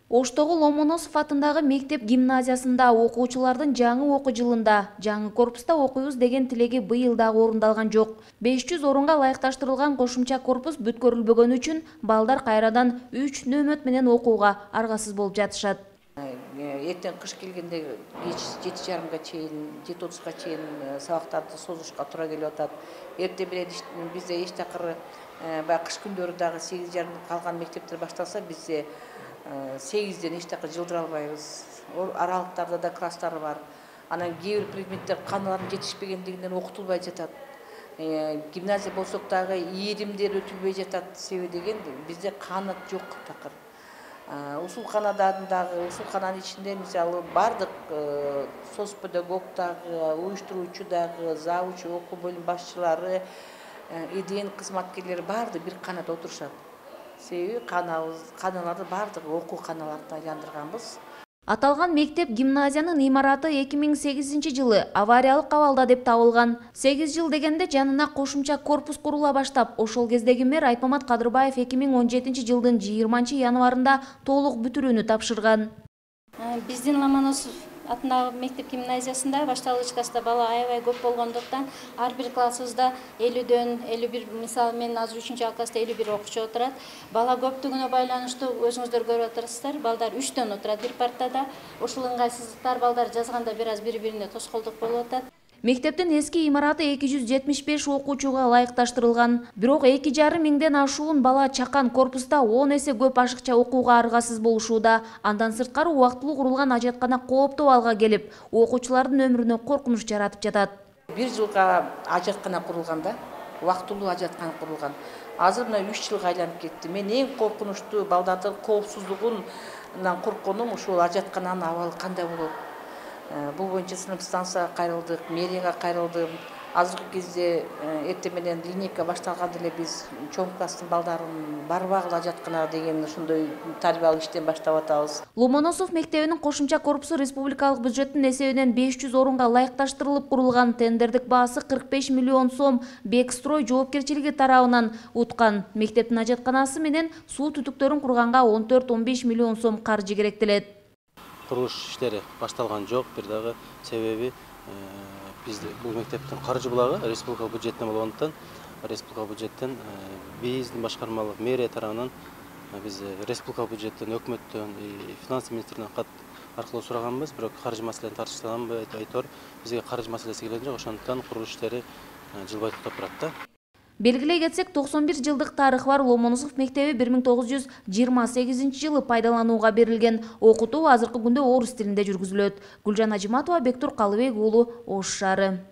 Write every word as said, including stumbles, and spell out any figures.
Оштогу Ломоносов атындагы мектеп гимназиясында окуучулардын жаңы окуу жылында жаңы корпуста окуйбуз деген тилеги быйыл дагы орундалган жок. беш жүз орунга ылайыкташтырылган кошумча корпус бүткөрүлбөгөнү үчүн балдар кайрадан үч нөөмөт менен окууга аргасыз болуп жатышат. Эртең кыш келгенде кеч жети жарымга чейин, жети отузга чейин сабактарды созушка туура келип атат. Эртең менен бизде эч такыр баягы кыш күндөрү дагы сегиз жарымда калган мектептер башталса, бизде сегизден эч такыр жылдыра албайбыз. Аралыктарда да класстар бар. Анан кээ бир предметтер каналардын жетишпегендигинен окутулбай жатат. Гимназия болсок дагы ийримдер өтүлбөй жатат. Себеби деген бизде канат жок такыр. Усулканада дагы, усулкананын ичинде мисалы бардык соц педагог дагы, уюштуруучу дагы, завуч, окуу бөлүм башчылары, иден кызматкерлери баары бир канатта отурушат. Себеби каналарды бардыгы окуу каналарына айландырганбыз. Аталган мектеп гимназиянын имараты эки миң сегизинчи жылы авариялык абалда деп табылган. сегиз жыл дегенде жанына кошумча корпус курула баштап, ошол кездеги мэр Айпамат Кадырбаев эки миң он жетинчи жылдын жыйырманчы январында толук бүтүрүүнү тапшырган. Биздин Ломоносов атындагы мектеп гимназиясында башталгычкасында бала аябай көп болгондуктан ар бир классыбызда элүүдөн элүү бир, мисалы мен азыр үчүнчү класста элүү бир окуучу отурат. Бала көптүгүнө байланыштуу өзүңүздөр көрүп атасыздар, балдар үчтөн отурат бир партада. Ушул ыңгайсыздыктар балдар жазганда бир аз бири-бирине тоскоолдук болуп атат. Мектептин эски имараты эки жүз жетимиш беш окуучуга ылайыкташтырылган. Бирок эки жарым миңден ашуун бала чакан корпуста он эсе көп ашыкча окууга аргасыз болушууда. Андан сырткары убактылуу курулган ажаткана кооптуу алга келип, окуучулардын өмүрүнө коркунуч жаратып жатат. Бир жылга ажаткана курулган да, убактылуу ажаткана курулган. Азыр мына үч жылга айланып кетти. Мен эң коркунучтуу балдардын коопсуздугунан коркконум ушул ажаткананын абалы кандай болот. Бул боюнча сынып станцияга кайрылдык, мэрияга кайрылдым. Азыркы кезде эртең менен линейка башталганда эле биз чоң класстын балдарын барбагыла ажатканага деген ушундай тарбиялык иштен баштап атабыз. Ломоносов мектебинин кошумча корпусу республикалык бюджеттин эсебинен беш жүз орунга ылайыкташтырылып курулган. Тендердик баасы кырк беш миллион сом Бекстрой жоопкерчилиги тарабынан уткан. Мектептин ажатканасы менен суу түтүктөрүн курганга он төрт он беш миллион сом каржы керектелет. Курулуш иштери башталган жок, бир дагы себеби бизде бул мектептин каржы булагы республика бюджетинен болгондуктан, республика бюджеттен биздин башкармалык мэрия тарабынан биз республика бюджеттен, өкмөттөн, финанс министринен кат аркылуу сураганбыз, бирок каржы маселени тартыштаган айтор бизге каржы маселеси келген жок, ошондуктан курулуш иштери жылбай токтоп турат да. Белгилей кетсек, токсон бир жылдык тарыхы бар Ломоносов мектеби бир миң тогуз жүз жыйырма сегизинчи жылы пайдаланууга берилген. Окутуу азыркы күндө орус тилинде жүргүзүлөт. Гүлжан Ажиматова, Бектур Калыбек уулу, Ош шаары.